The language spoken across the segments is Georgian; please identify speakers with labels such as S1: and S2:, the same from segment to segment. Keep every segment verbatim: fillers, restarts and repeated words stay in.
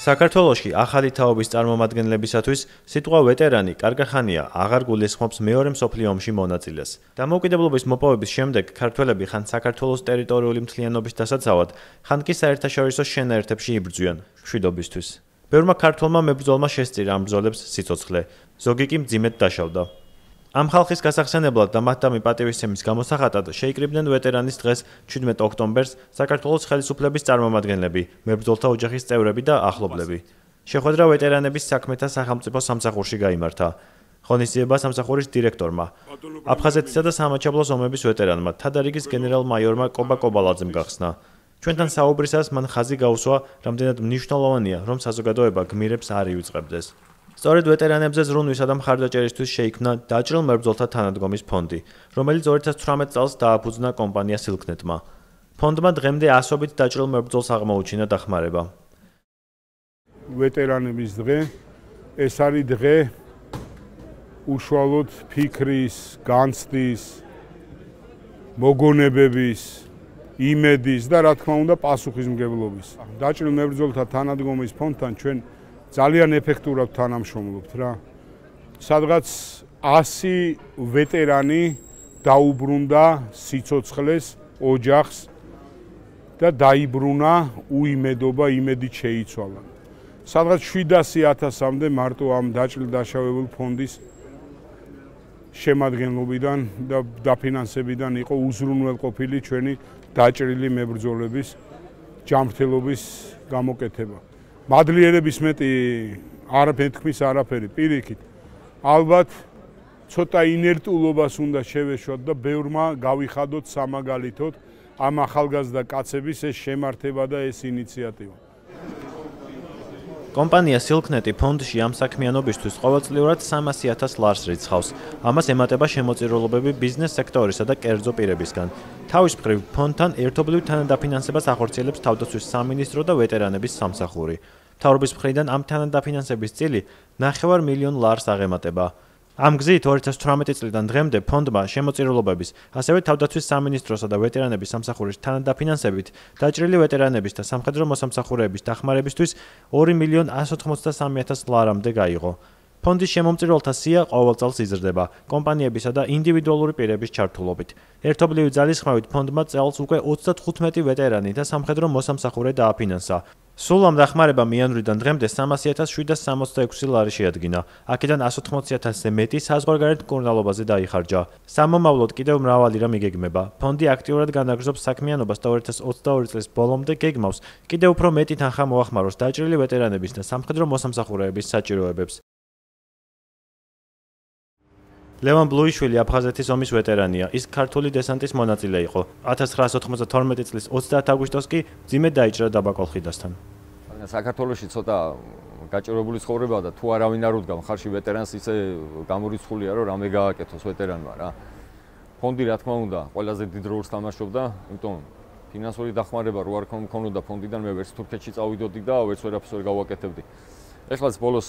S1: საქართველოში ახალი თაობის წარმომადგენლებისათვის სიტყვა ვეტერანი კარგახანია აღარ გულისხმობს მეორე მსოფლიო ომში მონაწილეს. დამოუკიდებლობის მოპოვების შემდეგ ქართველები ხან საქართველოს ტერიტორიული მთლიანობის დასაცავად, ხან კი საერთაშორისო შენაერთებში იბრძვიან მშვიდობისთვის. ბევრმა ქართველმა მებრძოლმა შესწირა ამ ბრძოლებს სიცოცხლე, ზოგი კი მძიმედ დაშავდა. ამ ხალხის გასახსენებლად და მათდამი პატივისცემის გამოსახატად შეიკრიბნენ ვეტერანის დღეს ჩვიდმეტ ოქტომბერს საქართველოს ხელისუფლების წარმომადგენლები, მებრძოლთა ოჯახის წევრები და ახლობლები. შეხვედრა ვეტერანების საქმეთა სახელმწიფო სამსახურში გაიმართა. ღონისძიება სამსახურის დირექტორმა, აფხაზეთისა და სამაჩაბლოს ომების ვეტერანმა, თადარიგის გენერალ-მაიორმა კობა კობალაძემ გახსნა. ჩვენთან საუბრისას მან ხაზი გაუსვა, რამდენად მნიშვნელოვანია, რომ საზოგადოება გმირებს არ ივიწყებდეს. სწორედ ვეტერანებზე ზრუნვისა და მხარდაჭერისთვის შეიქმნა დაჭრილ მებრძოლთა თანადგომის ფონდი, რომელიც ორი ათას ცხრამეტ წელს დააფუძნა კომპანია სილქნეტმა. ფონდმა დღემდე ასობით დაჭრილ მებრძოლს აღმოუჩინა დახმარება.
S2: ვეტერანების დღე ეს არის დღე უშუალოდ ფიქრის, განცდის, მოგონებების, იმედის და რა თქმა უნდა პასუხისმგებლობის. დაჭრილ მებრძოლთა თანადგომის ფონდთან ჩვენ ძალიან ეფექტურად თანამშრომლობთ რა. სადღაც ასი ვეტერანი დაუბრუნდა სიცოცხლეს, ოჯახს და დაიბრუნა უიმედობა, იმედით შეიცვალა. სადღაც შვიდასი ათასამდე მარტო ამ დაჭრილ დაშავებულ ფონდის შემადგენლობიდან და დაფინანსებიდან იყო უზრუნველყოფილი ჩვენი დაჭრილი მებრძოლების ჯანმრთელობის გამოკეთება. მადლიერების მეტი არ მეთქმის არაფერი პირიქით. ალბათ ცოტა ინერტულობას უნდა შევეშვათ და ბევრმა გავიხადოთ სამაგალითოდ ამ ახალგაზრდა კაცების ეს შემართება და ეს ინიციატივა.
S1: კომპანია სილქნეტი ფონდში ამ საქმიანობისთვის ყოველწლიურად სამასი ათას ლარს რიცხავს. ამას ემატება შემოწირულობები ბიზნეს სექტორისა და კერძო პირებისგან. თავის მხრივ ფონდთან ერთობლივ თანადაფინანსებას ახორციელებს თავდაცვის სამინისტრო და ვეტერანების სამსახური. მთავრობის მხრიდან ამ თანადაფინანსების წილი ნახევარ მილიონ ლარს აღემატება. ამ გზით ორი ათას ცხრამეტი წლიდან დღემდე ფონდმა შემოწირულობების, ასევე თავდაცვის სამინისტროსა და ვეტერანების სამსახურის თანადაფინანსებით დაჭრილი ვეტერანების და სამხედრო მოსამსახურეების დახმარებისთვის ორი მილიონ ასი ოცი სამი ათას ლარამდე გაიღო. ფონდის შემომწირულთა სია ყოველ წელს იზრდება კომპანიებისა და ინდივიდუალური პირების ჩართულობით. ერთობლივი ძალისხმევით ფონდმა წელს უკვე ოცდათხუთმეტი ვეტერანი და სამხედრო მოსამსახურე დააფინანსა. სულ ამ დახმარებამ იანვრიდან დღემდე სამასი ათას შვიდსათ სამოცდაექვსი ლარი შეადგინა. აქედან ასი ოცდაოთხი ათასზე მეტი საზღვარგარეთ მკურნალობაზე დაიხარჯა. სამომავლოდ კიდევ მრავალი რამ იგეგმება. ფონდი აქტიურად განაგრძობს საქმიანობას და ორი ათას ოცდაორი წლის ბოლომდე გეგმავს კიდევ უფრო მეტი თანხა მოახმაროს დაჭრილი ვეტერანების და სამხედრო მოსამსახურეების საჭიროებებს. ლევან ბლუიშვილი აფხაზეთის ომის ვეტერანია. ის ქართული დესანტის მონაწილე იყო. ათას ცხრაასი ოთხმოცდათორმეტი წლის ოცდაათი აგვისტოს კი მძიმედ დაიჭრა დაბაკოლხიდასთან.
S3: საქართველოში ცოტა გაჭირვებული ცხოვრებაა და თუ არავინ არ უდგა მხარში ვეტერანს, ისე გამორიცხულია, რომ რამე გააკეთოს ვეტერანმა რა. ფონდი რა თქმა უნდა ყველაზე დიდ როლს თამაშობდა, იმიტომ ფინანსური დახმარება რო არ მქონოდა ფონდიდან, მე ვერც თურქეთში წავიდოდი და ვერც ვერაფერს ვერ გავაკეთებდი. ეხლაც ბოლოს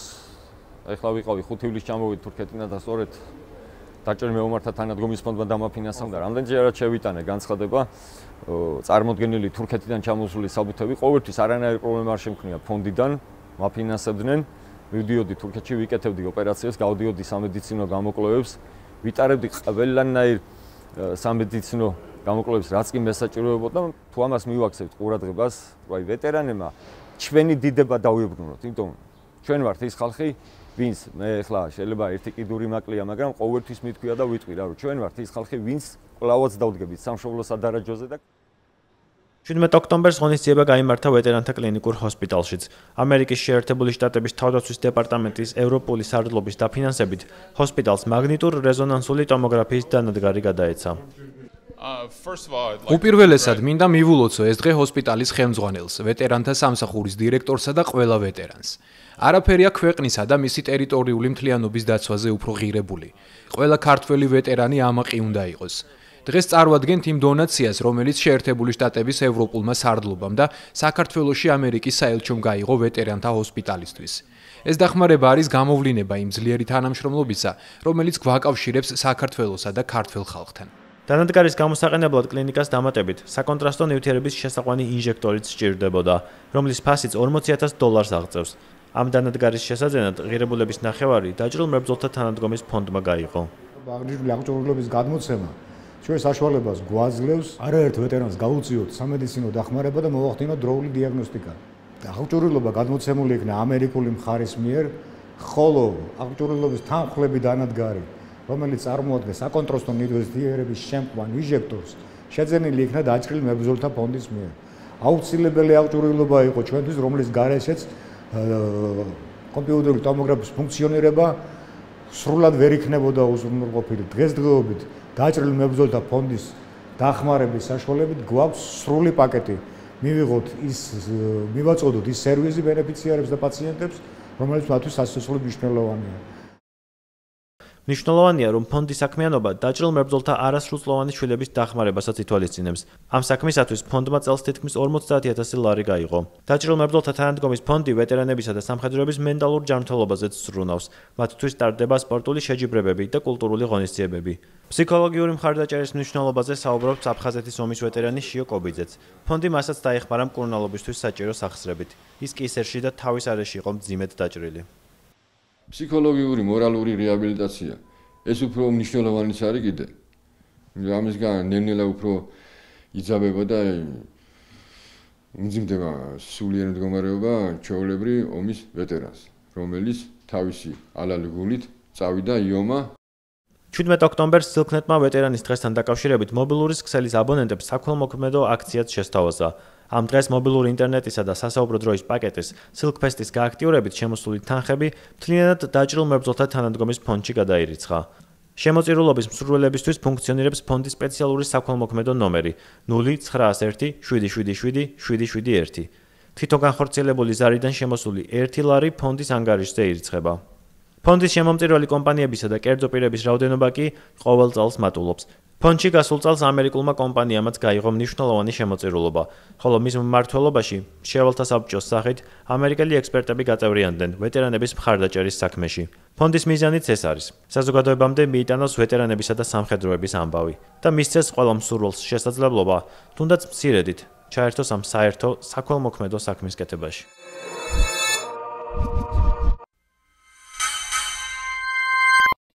S3: ეხლა ვიყავი ხუთი ივლისს ჩამოვედი თურქეთიდან და სწორედ დაჭრილ მეომართა თანადგომის ფონდმა დამაფინანსა და რამდენჯერაც შევიტანე განცხადება, წარმოდგენილი თურქეთიდან ჩამოსული საბუთები ყოველთვის არანაირი პრობლემა არ შემქნია ფონდიდან, მაფინანსებდნენ, მივდიოდი თურქეთში, ვიკეთებდი ოპერაციებს, გავდიოდი სამედიცინო გამოკვლევებს, ვიტარებდი ყველანაირ სამედიცინო გამოკვლევებს, რაც კი მესაჭიროებოდა, თუ ამას მივაქცევთ ყურადღებას, აი ვეტერანებმა ჩვენი დიდება დავიბრუნოთ, იმიტომ ჩვენ ვართ ის ხალხი, ვინც მე ახლა შეიძლება ერთი კიდური მაკლია, მაგრამ ყოველთვის მithქვია და ვიტყვი რა, რომ ჩვენ ვართ ის ხალხი, ვინც კლავაც დავდგებით სამშობლო სადარაჯოზე და
S1: ჩვიდმეტ ოქტომბერს ღონისძიება გაიმართა ვეტერანთა კლინიკურ ჰოსპიტალშიც. ამერიკის შეერთებული შტატების თავდაცვის დეპარტამენტის ევროპული სარდლობის დაფინანსებით ჰოსპიტალს მაგნიტურ რეზონანსული ტომოგრაფიის დანადგარი გადაეცა.
S4: უპირველესად მინდა მივულოცო ეს დღე ჰოსპიტალის ხელმძღვანელს, ვეტერანთა სამსახურის დირექტორსა და ყველა ვეტერანს. არაფერია ქვეყნისა და მისი ტერიტორიული მთლიანობის დაცვაზე უფრო ღირებული. ყველა ქართველი ვეტერანი ამაყი უნდა იყოს. დღეს წარვადგენთ იმ დონაციას, რომელიც შეერთებული შტატების ევროპულმა სარდლობამ და საქართველოში ამერიკის საელჩომ გაიღო ვეტერანთა ჰოსპიტალისთვის. ეს დახმარება არის გამოვლინება იმ ძლიერი თანამშრომლობისა, რომელიც გვაკავშირებს საქართველოსა და ქართველ ხალხთან.
S1: დანადგარის გამოსაყენებლად კლინიკას დამატებით საკონტრასტო ნივთიერების შესაყვანი ინჟექტორიც სჭირდებოდა, რომლის ფასიც ორმოცი ათას დოლარს აღწევს. ამ დანადგარის შესაძენად ღირებულების ნახევარი დაჭრილ მებრძოლთა თანადგომის ფონდმა გაიღო.
S5: აღნიშნული აღჭურვილობის გადმოცემა ჩვენ საშუალებას გვაძლევს არაერთ ვეტერანს გაუწიოთ სამედიცინო დახმარება და მოვახდინოთ დროული დიაგნოსტიკა. აღჭურვილობა გადმოცემული იქნა ამერიკული მხარის მიერ, ხოლო აღჭურვილობის თანხლები დანადგარი, რომელიც წარმოადგენს საკონტრასტო ნივთიერების შემყვან ინჟექტორს, შეძენილი იქნა დაჭრილ მებრძოლთა ფონდის მიერ. აუცილებელი აღჭურვილობა იყო ჩვენთვის, რომლის გარეშეც კომპიუტერული ტომოგრაფის ფუნქციონირება სრულად ვერ იქნებოდა უზრუნველყოფილი. დღესდღეობით დაჭრილ მებრძოლთა ფონდის დახმარების საშუალებით გვაქვს სრული პაკეტი. მივიღოთ ის მივაწოდოთ ის სერვისი ბენეფიციარებს და პაციენტებს, რომელიც მათთვის სასწაულად მნიშვნელოვანია.
S1: მნიშვნელოვანია, რომ ფონდის საქმიანობა დაჭრილ მებრძოლთა არასრულწლოვანი შვილების დახმარებასაც ითვალისწინებს. ამ საქმისათვის ფონდმა წელს თითქმის ორმოცდაათი ათასი ლარი გაიღო. დაჭრილ მებრძოლთა თანადგომის ფონდი ვეტერანებისა და სამხედროების მენტალურ ჯანმრთელობაზეც ზრუნავს. მათთვის ტარდება სპორტული შეჯიბრებები და კულტურული ღონისძიებები. ფსიქოლოგიური მხარდაჭერის მნიშვნელობაზე საუბრობს აფხაზეთის ომის ვეტერანი შიო კობიძეც. ფონდი მასაც დაეხმარა მკურნალობისთვის საჭირო სახსრებით. ის კისერში და თავის არეში იყო მძიმედ დაჭრილი.
S6: ფსიქოლოგიური, მორალური რეაბილიტაცია ეს უფრო მნიშვნელოვანიც არის კიდე. ამისგან ნელ-ნელა უფრო იძაბება და უმძიმდება სულიერი მდგომარეობა ჩვეულებრივ ომის ვეტერანს, რომელიც თავისი ალალი გულით წავიდა იომა.
S1: ჩვიდმეტ ოქტომბერს სილქნეტმა ვეტერანის დღესთან დაკავშირებით მობილურის ქსელის აბონენტებს საქველმოქმედო აქციაც შესთავაზა. ამ დღეს მობილური ინტერნეტისა და სასაუბრო დროის პაკეტის სილკფესტის გააქტიურებით შემოსული თანხები მთლიანად დაჭრილ მებრძოლთა თანადგომის ფონდში გადაირიცხა. შემოწირულობის მსურველებისთვის ფუნქციონირებს ფონდის სპეციალური საქველმოქმედო ნომერი ნული ცხრაას ერთი შვიდი შვიდი შვიდი შვიდი შვიდი ერთი. თვითონ განხორციელებული ზარიდან შემოსული ერთი ლარი ფონდის ანგარიშზე ირიცხება. ფონდის შემომწირველი კომპანიებისა და კერძო პირების რაოდენობა კი ყოველ წელს მატულობს. ფონდში გასულ წელს ამერიკულმა კომპანიამაც გაიღო მნიშვნელოვანი შემოწირულობა, ხოლო მის მმართველობაში მრჩეველთა საბჭოს სახით ამერიკელი ექსპერტები გაწევრიანდნენ ვეტერანების მხარდაჭერის საქმეში. ფონდის მიზანიც ეს არის. საზოგადოებამდე მიიტანოს ვეტერანებისა და სამხედროების ამბავი და მისცეს ყველა მსურველს შესაძლებლობა, თუნდაც მცირედით, ჩაერთოს ამ საერთო საქველმოქმედო საქმის კეთებაში.